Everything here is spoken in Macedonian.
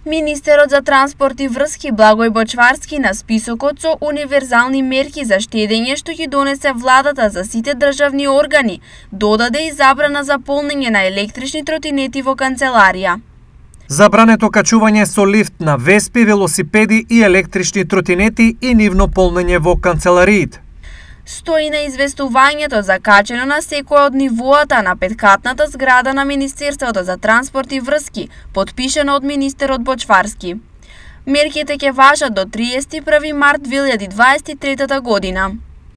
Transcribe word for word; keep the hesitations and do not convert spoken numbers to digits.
Министерот за транспорт и врски Благој Бочварски на списокот со универзални мерки за штедење што ги донесе владата за сите државни органи, додаде и забрана за полнење на електрични тротинети во канцеларија. Забрането качување со лифт на веспи, велосипеди и електрични тротинети и нивно полнење во канцелариите. Стои на известувањето закачено на секој од нивоата на петкатната зграда на Министерството за транспорт и врски, потпишено од министерот Бочварски. Мерките ќе важат до триесет и први март две илјади дваесет и трета година.